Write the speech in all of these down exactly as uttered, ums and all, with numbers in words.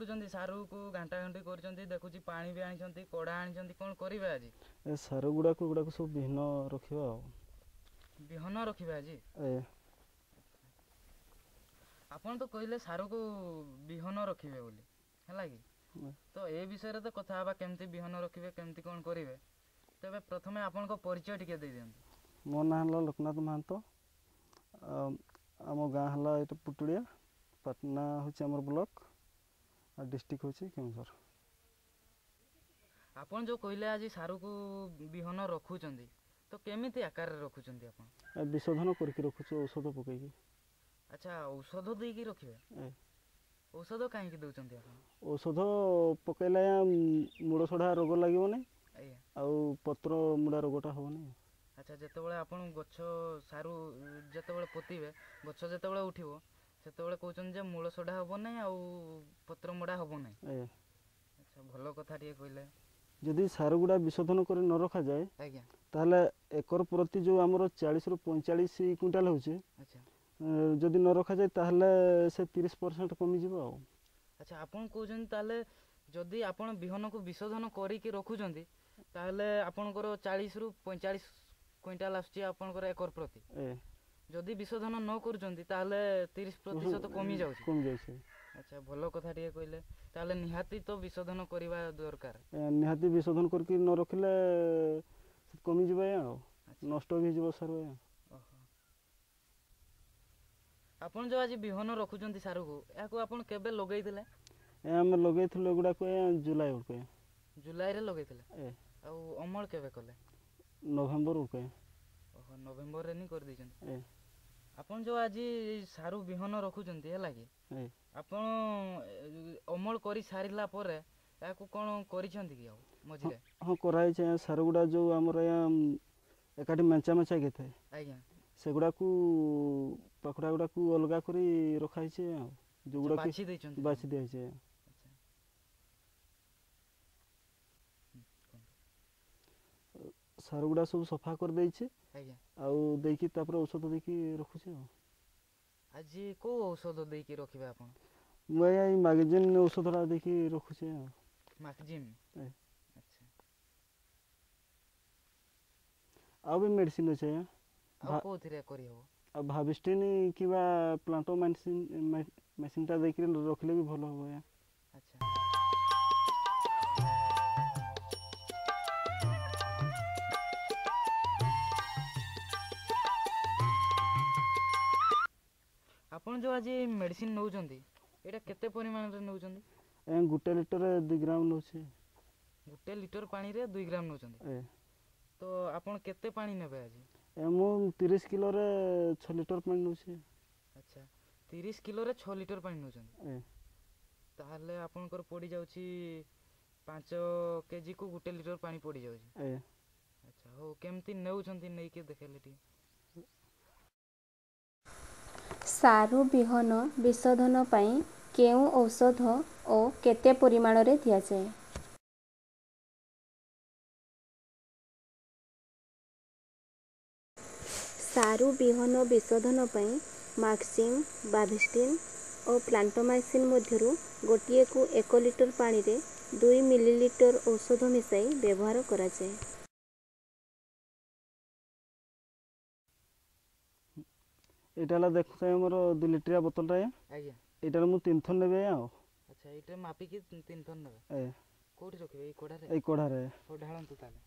କରୁଛନ୍ତି? ସାରୁକୁ ଘାଣ୍ଟା ଘାଣ୍ଟି କରୁଛନ୍ତି ଦେଖୁଛି, ପାଣି ବି ଆଣିଛନ୍ତି, କଢ଼ା ଆଣିଛନ୍ତି, କ'ଣ କରିବେ ଆଜି? ଏ ସାରୁ ଗୁଡ଼ାକୁ ଗୁଡ଼ାକୁ ସବୁ ବିହନ ରଖିବା ଆଉ। ବିହନ ରଖିବେ ଆଜି? ଆଜ୍ଞା। ଆପଣ ତ କହିଲେ ସାରୁକୁ ବିହନ ରଖିବେ ବୋଲି, ହେଲା କି? ତ ଏ ବିଷୟରେ ତ କଥା ହେବା, କେମିତି ବିହନ ରଖିବେ, କେମିତି କ'ଣ କରିବେ। ତେବେ ପ୍ରଥମେ ଆପଣଙ୍କ ପରିଚୟ ଟିକେ ଦେଇଦିଅନ୍ତୁ। ମୋ ନାଁ ହେଲା ଲୋକନାଥ ମହାନ୍ତ। ଆମ ଗାଁ ହେଲା ଏଇଟା ପୁଟୁଳିଆ, ପାଟନା ହେଉଛି ଆମର ବ୍ଲକ ଆଉ ଡିଷ୍ଟ୍ରିକ୍ଟ ହେଉଛି କେଉଁଝର। ଆପଣ ଯେଉଁ କହିଲେ ଆଜି ସାରୁକୁ ବିହନ ରଖୁଛନ୍ତି, ତ କେମିତି ଆକାରରେ ରଖୁଛନ୍ତି ଆପଣ? ବିଶୋଧନ କରିକି ରଖୁଛୁ, ଔଷଧ ପକେଇକି। ଆଚ୍ଛା, ଔଷଧ ଦେଇକି ରଖିବେ? ଔଷଧ କାହିଁକି ଦେଉଛନ୍ତି ଆପଣ? ଔଷଧ ପକେଇଲେ ମୂଳ ସଢ଼ା ରୋଗ ଲାଗିବନି, ଆଉ ପତ୍ର ମୁଡ଼ା ରୋଗଟା ହେବନି। ଆଚ୍ଛା, ଯେତେବେଳେ ଆପଣ ଗଛ ସାରୁ ଯେତେବେଳେ ପୋତିବେ, ଗଛ ଯେତେବେଳେ ଉଠିବ, ସେତେବେଳେ କହୁଛନ୍ତି ଯେ ମୂଳ ସଢ଼ା ହେବ ନାହିଁ ଆଉ ପତ୍ର ମଡ଼ା ହେବ ନାହିଁ। ଆଚ୍ଛା, ଭଲ କଥା ଟିକେ କହିଲେ। ଯଦି ସାରୁ ଗୁଡ଼ା ବିଶୋଧନ କରି ନ ରଖାଯାଏ, ଆଜ୍ଞା, ତାହେଲେ ଏକର ପ୍ରତି ଯେଉଁ ଆମର ଚାଳିଶରୁ ପଇଁଚାଳିଶ କୁଇଣ୍ଟାଲ ହେଉଛି, ଆଚ୍ଛା, ଯଦି ନ ରଖାଯାଏ ତାହେଲେ ସେ ତିରିଶ ପରସେଣ୍ଟ କମିଯିବ। ଆଉ ଆଚ୍ଛା, ଆପଣ କହୁଛନ୍ତି ତାହେଲେ ଯଦି ଆପଣ ବିହନକୁ ବିଶୋଧନ କରିକି ରଖୁଛନ୍ତି ତାହେଲେ ଆପଣଙ୍କର ଚାଳିଶରୁ ପଇଁଚାଳିଶ କୁଇଣ୍ଟାଲ ଆସୁଛି ଆପଣଙ୍କର ଏକର ପ୍ରତି, ଯଦି ବିଶୋଧନ ନ କରୁଛନ୍ତି ତାହେଲେ ତିରିଶ ପ୍ରତିଶତ କମି ଯାଉଛି। କମି ଯାଉଛି। ଆଚ୍ଛା, ଭଲ କଥା ଟିକେ କହିଲେ। ତାହେଲେ ନିହାତି ତ ବିଶୋଧନ କରିବା ଦରକାର। ନିହାତି ବିଶୋଧନ କରିକି ନ ରଖିଲେ କମିଯିବ ଆଉ ନଷ୍ଟ ବି ହେଇଯିବ ସାରୁ। ଓହୋ, ଆପଣ ଯେଉଁ ଆଜି ବିହନ ରଖୁଛନ୍ତି ସାରୁକୁ, ଏହାକୁ ଆପଣ କେବେ ଲଗେଇଥିଲେ? ଆମେ ଲଗେଇଥିଲୁ ଏଗୁଡ଼ାକୁ ଜୁଲାଇ ବେଳକୁ। ଜୁଲାଇରେ ଲଗେଇଥିଲେ? ଆଉ ଅମଳ କେବେ କଲେ? ନଭେମ୍ବର ବେଳକୁ। ଓହୋ, ନଭେମ୍ବରରେ ହିଁ କରିଦେଇଛନ୍ତି। ଆପଣ ଯେଉଁ ଆଜି ସାରୁ ବିହନ ରଖୁଛନ୍ତି, ହେଲା କି, ଆପଣ ଅମଳ କରି ସାରିଲା ପରେ ଏହାକୁ କ'ଣ କରିଛନ୍ତି କି ଆଉ ମଝିରେ? ହଁ, କରାହେଇଛି। ସାରୁ ଗୁଡ଼ା ଯେଉଁ ଆମର ଏକାଠି ମେଞ୍ଚା ମେଞ୍ଚା ହେଇଥାଏ, ଆଜ୍ଞା, ସେଗୁଡ଼ାକୁ ପାଖୁଡ଼ା ଗୁଡ଼ାକୁ ଅଲଗା କରି ରଖାହେଇଛି ଆଉ ଯେଉଁଗୁଡ଼ା ବାଛି ଦେଇଛନ୍ତି? ବାଛି ଦିଆହେଇଛି। ସାରୁ ଗୁଡ଼ା ସବୁ ସଫା କରିଦେଇଛି, ଆଜ୍ଞା, ଆଉ ଦେଇକି ତାପରେ ଔଷଧ ଦେଇକି ରଖୁଛି। ଆଉ ଆଜି କେଉଁ ଔଷଧ ଦେଇକି ରଖିବେ ଆପଣ? ମୁଁ ଆଜ୍ଞା ଏଇ ମାଗଜିନ୍ ଔଷଧଟା ଦେଇକି ରଖୁଛି। ଆଉ ମାଗଜିନ୍? ଆଚ୍ଛା, ଆଉ ବି ମେଡ଼ିସିନ୍ ଅଛି ଆଜ୍ଞା। ଆଉ କେଉଁଥିରେ କରିହେବ? ଆଉ ଭାବିଷ୍ଟିନ୍ କିମ୍ବା ପ୍ଲାଣ୍ଟୋ ମେସିନ୍ ମେସିନ୍ଟା ଦେଇକିରି ରଖିଲେ ବି ଭଲ ହେବ ଆଜ୍ଞା। ଆଚ୍ଛା, ଆପଣ ଯେଉଁ ଆଜି ମେଡ଼ିସିନ୍ ନେଉଛନ୍ତି, ଏଇଟା କେତେ ପରିମାଣରେ ନେଉଛନ୍ତି? ଗୋଟେ ଲିଟରରେ ଦୁଇ ଗ୍ରାମ ନେଉଛି। ଗୋଟେ ଲିଟର ପାଣିରେ ଦୁଇ ଗ୍ରାମ ନେଉଛନ୍ତି? ତ ଆପଣ କେତେ ପାଣି ନେବେ ଆଜି? ମୁଁ ତିରିଶ କିଲୋରେ ଛଅ ଲିଟର ପାଣି ନେଉଛି। ଆଚ୍ଛା, ତିରିଶ କିଲୋରେ ଛଅ ଲିଟର ପାଣି ନେଉଛନ୍ତି, ତାହେଲେ ଆପଣଙ୍କର ପଡ଼ିଯାଉଛି ପାଞ୍ଚ କେଜିକୁ ଗୋଟେ ଲିଟର ପାଣି ପଡ଼ିଯାଉଛି। ଆଚ୍ଛା, ହଉ, କେମିତି ନେଉଛନ୍ତି ନେଇକି ଦେଖେଇଲେ ଟିକେ। ସାରୁ ବିହନ ବିଶୋଧନ ପାଇଁ କେଉଁ ଔଷଧ ଓ କେତେ ପରିମାଣରେ ଦିଆଯାଏ? ସାରୁ ବିହନ ବିଶୋଧନ ପାଇଁ ମାକ୍ସିମ୍, ବାଭିଷ୍ଟିନ୍ ଓ ପ୍ଲାଣ୍ଟୋମାଇସିନ୍ ମଧ୍ୟରୁ ଗୋଟିଏକୁ ଏକ ଲିଟର ପାଣିରେ ଦୁଇ ମିଲିଲିଟର ଔଷଧ ମିଶାଇ ବ୍ୟବହାର କରାଯାଏ। ଏଇଟା ହେଲା ଦେଖୁଥାଏ ଆମର ଦୁଇ ଲିଟରିଆ ବୋତଲଟା ଆଜ୍ଞା। ଏଇଟାରେ ମୁଁ ତିନି ଥର ନେବି ଆଉ। ଆଚ୍ଛା, ଏଇଟା ମାପିକି ତିନି ଥର ନେବେ? ଆଜ୍ଞା। କୋଉଠି ରଖିବେ, ଏଇ କଢ଼ାରେ? ଏଇ କଢ଼ାରେ। ହଉ, ଢାଳନ୍ତୁ ତାହେଲେ।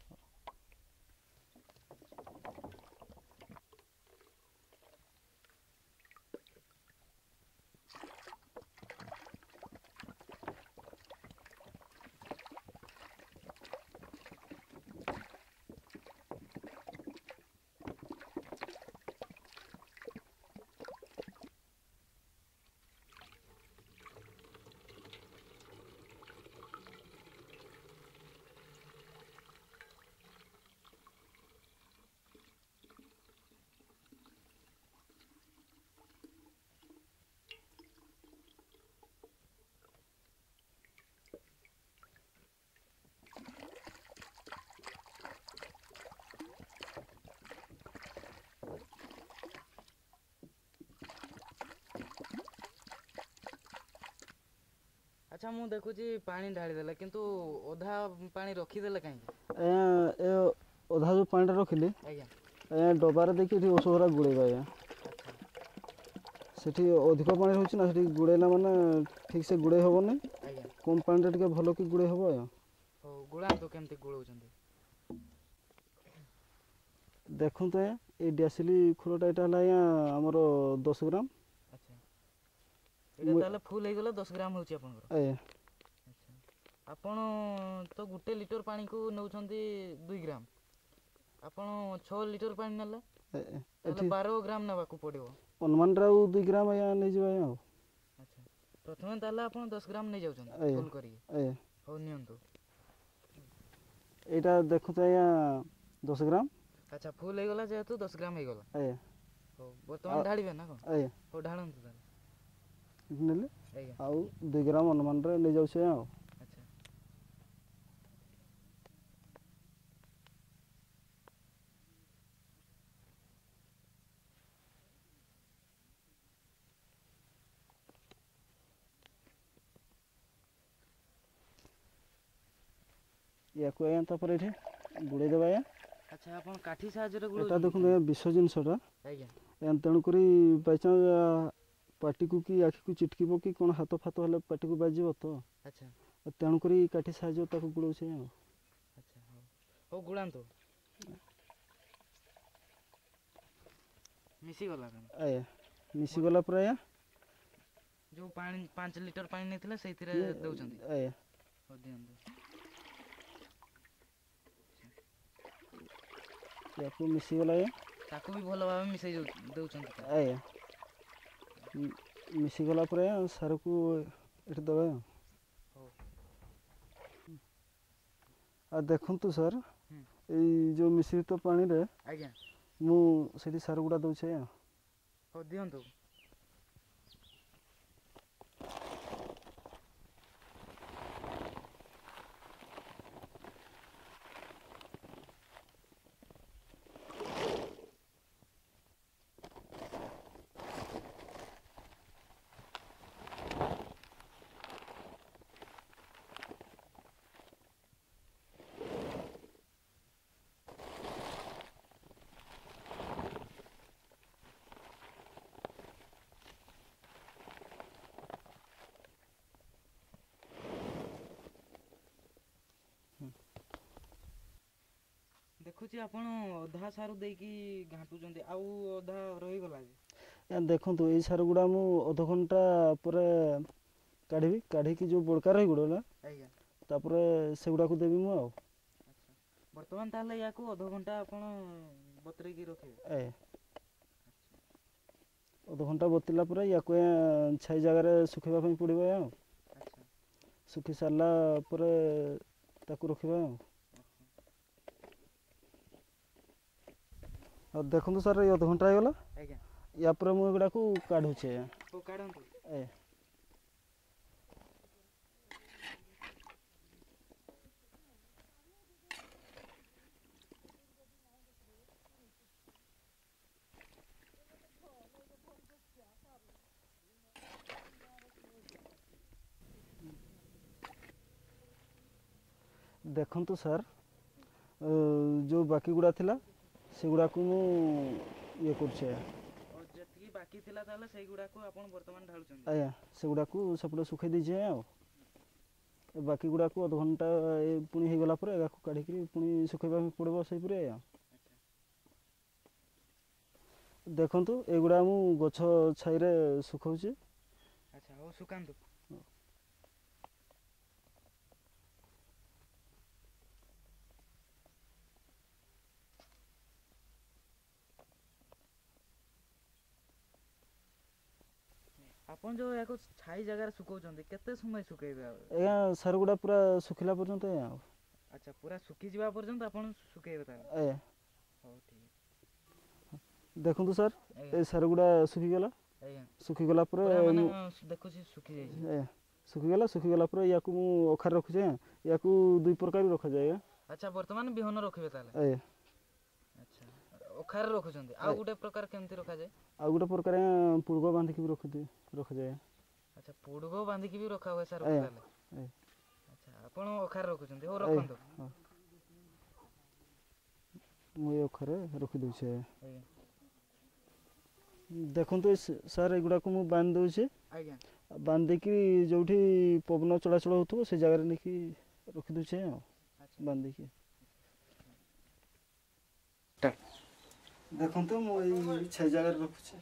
ଆଚ୍ଛା, ମୁଁ ଦେଖୁଛି ପାଣି ଢାଳିଦେଲେ, କିନ୍ତୁ ଅଧା ପାଣି ରଖିଦେଲେ କାହିଁକି? ଆଜ୍ଞା, ଏ ଅଧା ଯେଉଁ ପାଣିଟା ରଖିଲି ଆଜ୍ଞା, ଆଜ୍ଞା, ଡବାରେ ଦେଇକି ଏଠି ଔଷଧଟା ଗୋଳେଇବା ଆଜ୍ଞା। ଆଚ୍ଛା। ସେଠି ଅଧିକ ପାଣି ରହୁଛି ନା, ସେଠି ଗୋଳେଇଲା ମାନେ ଠିକ୍ ସେ ଗୋଳେଇ ହେବନି। ଆଜ୍ଞା। କମ୍ ପାଣିରେ ଟିକେ ଭଲ କି ଗୋଳେଇ ହେବ ଆଜ୍ଞା। ହଉ, ଗୋଳାନ୍ତୁ, କେମିତି ଗୋଳଉଛନ୍ତି? ଦେଖନ୍ତୁ ଆଜ୍ଞା, ଏଇ ଡିଆସିଲି ଖୋଳଟା, ଏଇଟା ହେଲା ଆଜ୍ଞା ଆମର ଦଶ ଗ୍ରାମ। ଆଚ୍ଛା, ଏଇଟା ତାହେଲେ ଫୁଲ୍ ହେଇଗଲା, ଦଶ ଗ୍ରାମ ହେଉଛି ଆପଣଙ୍କର? ଆଜ୍ଞା। ଆଚ୍ଛା, ଆପଣ ତ ଗୋଟେ ଲିଟର ପାଣିକୁ ନେଉଛନ୍ତି ଦୁଇ ଗ୍ରାମ, ଆପଣ ଛଅ ଲିଟର ପାଣି ନେଲେ ତାହେଲେ ବାର ଗ୍ରାମ ନେବାକୁ ପଡ଼ିବ। ଅନୁମାନରେ ଆଉ ଦୁଇ ଗ୍ରାମ ଆଜ୍ଞା ନେଇଯିବା ଆଜ୍ଞା ଆଉ। ଆଚ୍ଛା, ପ୍ରଥମେ ତାହେଲେ ଆପଣ ଦଶ ଗ୍ରାମ ନେଇଯାଉଛନ୍ତି ଫୁଲ୍ କରିକି? ଆଜ୍ଞା। ହଉ, ନିଅନ୍ତୁ। ଏଇଟା ଦେଖନ୍ତୁ ଆଜ୍ଞା, ଦଶ ଗ୍ରାମ। ଆଚ୍ଛା, ଫୁଲ୍ ହେଇଗଲା ଯେହେତୁ ଦଶ ଗ୍ରାମ ହେଇଗଲା। ଆଜ୍ଞା। ହଉ, ବର୍ତ୍ତମାନ ଢାଳିବେ ନା କ'ଣ? ଆଜ୍ଞା। ହଉ, ଢାଳନ୍ତୁ ତାହେଲେ। ନେଲେ ଆଜ୍ଞା, ଆଉ ଦୁଇ ଗ୍ରାମ ଅନୁମାନରେ ନେଇଯାଉଛି ଆଜ୍ଞା ଆଉ। ଆଚ୍ଛା। ୟାକୁ ଆଜ୍ଞା ତାପରେ ଏଠି ଗୁଡ଼େଇ ଦେବା ଆଜ୍ଞା। ଆଚ୍ଛା, ଆପଣ କାଠି ସାହାଯ୍ୟରେ ଏଟା ଗୋଳଉଛନ୍ତି? ଦେଖନ୍ତୁ ଆଜ୍ଞା, ବିଷ ଜିନିଷଟା। ଆଜ୍ଞା। ତେଣୁକରି ବାଇଚାନ୍ସ ପାଟିକୁ କି ଆଖିକୁ ଚିଟକିବ କି କ'ଣ, ହାତ ଫାତ ହେଲେ ପାଟିକୁ ବାଜିବ ତ। ଆଚ୍ଛା। ତେଣୁକରି କାଠି ସାହାଯ୍ୟ ତାକୁ ଗୋଳଉଛି ଆଉ। ଆଚ୍ଛା, ହଉ ହଉ, ଗୋଳାନ୍ତୁ। ମିଶିଗଲା? ଆଜ୍ଞା, ମିଶିଗଲା ପରେ ଆଜ୍ଞା ଯେଉଁ ପାଣି ପାଞ୍ଚ ଲିଟର ପାଣି ନେଇଥିଲେ ସେଇଥିରେ ଦେଉଛନ୍ତି? ଆଜ୍ଞା। ହଉ, ଦିଅନ୍ତୁ। ୟାକୁ ମିଶିଗଲା ଆଜ୍ଞା। ତାକୁ ବି ଭଲ ଭାବେ ମିଶାଇ ଦେଉଛନ୍ତି? ଆଜ୍ଞା, ମିଶିଗଲା ପରେ ସାରକୁ ଏଠି ଦେବା। ହଉ। ଆଉ ଦେଖନ୍ତୁ ସାର୍, ଏଇ ଯେଉଁ ମିଶ୍ରିତ ପାଣିରେ ଆଜ୍ଞା ମୁଁ ସେଠି ସାର ଗୁଡ଼ା ଦେଉଛି ଆଜ୍ଞା। ହଉ, ଦିଅନ୍ତୁ। ଦେଖୁଛି ଆପଣ ଅଧା ସାରୁ ଦେଇକି ଘାଣ୍ଟୁଛନ୍ତି, ଆଉ ଅଧା ରହିଗଲା ଯେ? ଦେଖନ୍ତୁ, ଏଇ ସାର ଗୁଡ଼ା ମୁଁ ଅଧଘଣ୍ଟା ପରେ କାଢ଼ିବି, କାଢ଼ିକି ଯେଉଁ ବଳକା ରହିଗଲା ଆଜ୍ଞା ତାପରେ ସେଗୁଡ଼ାକୁ ଦେବି ମୁଁ ଆଉ। ଆଚ୍ଛା, ବର୍ତ୍ତମାନ ତାହେଲେ ୟାକୁ ଅଧଘଣ୍ଟା ଆପଣ ବତୁରେଇକି ରଖିବେ? ଆଜ୍ଞା, ଅଧଘଣ୍ଟା ବତିଲା ପରେ ୟାକୁ ଛାଇ ଜାଗାରେ ଶୁଖେଇବା ପାଇଁ ପଡ଼ିବ ଆଉ। ଆଚ୍ଛା। ଶୁଖି ସାରିଲା ପରେ ତାକୁ ରଖିବା ଆଉ। ଆଉ ଦେଖନ୍ତୁ ସାର୍, ଏଇ ଅଧଘଣ୍ଟା ହେଇଗଲା। ଆଜ୍ଞା। ୟା ପରେ ମୁଁ ଏଗୁଡ଼ାକୁ କାଢ଼ୁଛି ଆଜ୍ଞା। ହଉ, କାଢ଼ନ୍ତୁ। ଆଜ୍ଞା। ଦେଖନ୍ତୁ ସାର୍, ଯେଉଁ ବାକି ଗୁଡ଼ା ଥିଲା ସେଗୁଡ଼ାକୁ ମୁଁ ଇଏ କରୁଛି ଆଜ୍ଞା। ଯେତିକି ବାକି ଥିଲା ତାହେଲେ ସେଇଗୁଡ଼ାକୁ ଆପଣ ବର୍ତ୍ତମାନ ଢାଳୁଛନ୍ତି? ଆଜ୍ଞା, ସେଗୁଡ଼ାକୁ ସେପଟେ ଶୁଖେଇ ଦେଇଛି ଆଜ୍ଞା। ଆଉ ବାକି ଗୁଡ଼ାକୁ ଅଧଘଣ୍ଟା ଏ ପୁଣି ହେଇଗଲା ପରେ ଏହାକୁ କାଢ଼ିକିରି ପୁଣି ଶୁଖେଇବା ପାଇଁ ପଡ଼ିବ ସେଇପରି ଆଜ୍ଞା। ଦେଖନ୍ତୁ, ଏଗୁଡ଼ା ମୁଁ ଗଛ ଛାଇରେ ଶୁଖାଉଛି। ଆଚ୍ଛା, ହଉ, ଶୁଖାନ୍ତୁ। ଆପଣ ଯେଉଁ ଏହାକୁ ଛାଇ ଜାଗାରେ ଶୁଖାଉଛନ୍ତି, କେତେ ସମୟ ଶୁଖେଇବେ? ଆଜ୍ଞା, ସାର ଗୁଡ଼ା ପୁରା ଶୁଖିଲା ପର୍ଯ୍ୟନ୍ତ ଆଜ୍ଞା। ଆଉ ଆଚ୍ଛା, ପୁରା ଶୁଖିଯିବା ପର୍ଯ୍ୟନ୍ତ ଆପଣ ଶୁଖେଇବେ ତାହେଲେ? ଆଜ୍ଞା। ହଉ, ଠିକ୍ ଅଛି। ଦେଖନ୍ତୁ ସାର୍, ଏ ସାର ଗୁଡ଼ା ଶୁଖିଗଲା। ଆଜ୍ଞା। ଶୁଖିଗଲା ପରେ ମାନେ ଦେଖୁଛି ଶୁଖି ଯାଇଛି। ଆଜ୍ଞା, ଶୁଖିଗଲା। ଶୁଖିଗଲା ପରେ ୟାକୁ ମୁଁ ଅଖାରେ ରଖୁଛି ଆଜ୍ଞା। ୟାକୁ ଦୁଇ ପ୍ରକାର ରଖାଯାଏ ଆଜ୍ଞା। ଆଚ୍ଛା, ବର୍ତ୍ତମାନ ବିହନ ରଖିବେ ତାହେଲେ? ଆଜ୍ଞା। ଆଚ୍ଛା, ଅଖାରେ ରଖୁଛନ୍ତି, ଆଉ ଗୋଟେ ପ୍ରକାର କେମିତି ରଖାଯାଏ? ଆଉ ଗୋଟେ ପ୍ରକାର ପୁଳକ ବାନ୍ଧିକି ବି ରଖନ୍ତି, ରଖାଯାଏ। ଆଚ୍ଛା, ପୋଡ଼ଗ ବାନ୍ଧିକି ବି ରଖା ହୁଏ ସାରୁ ତାହେଲେ? ଆଚ୍ଛା, ଆପଣ ଅଖାରେ ରଖୁଛନ୍ତି? ହଉ, ରଖନ୍ତୁ। ମୁଁ ଏ ଅଖାରେ ରଖିଦେଉଛି। ଆଜ୍ଞା, ଦେଖନ୍ତୁ ସାର୍, ଏଗୁଡ଼ାକୁ ମୁଁ ବାନ୍ଧି ଦେଉଛି। ଆଜ୍ଞା। ବାନ୍ଧିକି ଯେଉଁଠି ପବନ ଚଳାଚଳ ହେଉଥିବ ସେ ଜାଗାରେ ନେଇକି ରଖିଦେଉଛି ଆଉ ବାନ୍ଧିକି। ଦେଖନ୍ତୁ, ମୁଁ ଏଇ ଛାଇ ଜାଗାରେ ରଖୁଛି।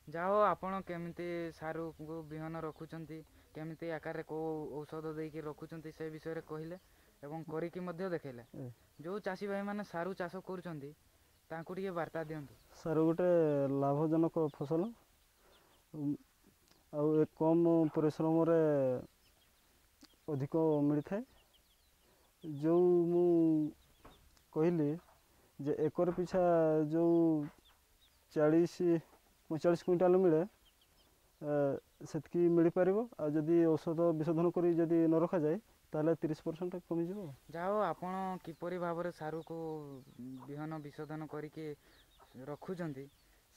ଯାହା ହଉ, ଆପଣ କେମିତି ସାରୁକୁ ବିହନ ରଖୁଛନ୍ତି, କେମିତି ଆକାରରେ କେଉଁ ଔଷଧ ଦେଇକି ରଖୁଛନ୍ତି ସେ ବିଷୟରେ କହିଲେ ଏବଂ କରିକି ମଧ୍ୟ ଦେଖେଇଲେ। ଯେଉଁ ଚାଷୀ ଭାଇମାନେ ସାରୁ ଚାଷ କରୁଛନ୍ତି ତାଙ୍କୁ ଟିକେ ବାର୍ତ୍ତା ଦିଅନ୍ତୁ। ସାରୁ ଗୋଟେ ଲାଭଜନକ ଫସଲ ଆଉ ଏ କମ୍ ପରିଶ୍ରମରେ ଅଧିକ ମିଳିଥାଏ। ଯେଉଁ ମୁଁ କହିଲି ଯେ ଏକର ପିଛା ଯେଉଁ ଚାଳିଶ ପଇଁଚାଳିଶ କୁଇଣ୍ଟାଲ ମିଳେ, ସେତିକି ମିଳିପାରିବ। ଆଉ ଯଦି ଔଷଧ ବିଶୋଧନ କରି ଯଦି ନ ରଖାଯାଏ ତାହେଲେ ତିରିଶ ପରସେଣ୍ଟ କମିଯିବ। ଯାହା ହଉ, ଆପଣ କିପରି ଭାବରେ ସାରୁକୁ ବିହନ ବିଶୋଧନ କରିକି ରଖୁଛନ୍ତି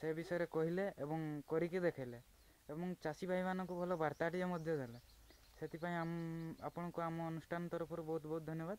ସେ ବିଷୟରେ କହିଲେ ଏବଂ କରିକି ଦେଖେଇଲେ ଏବଂ ଚାଷୀ ଭାଇମାନଙ୍କୁ ଭଲ ବାର୍ତ୍ତାଟିଏ ମଧ୍ୟ ଦେଲେ। ସେଥିପାଇଁ ଆପଣଙ୍କୁ ଆମ ଅନୁଷ୍ଠାନ ତରଫରୁ ବହୁତ ବହୁତ ଧନ୍ୟବାଦ।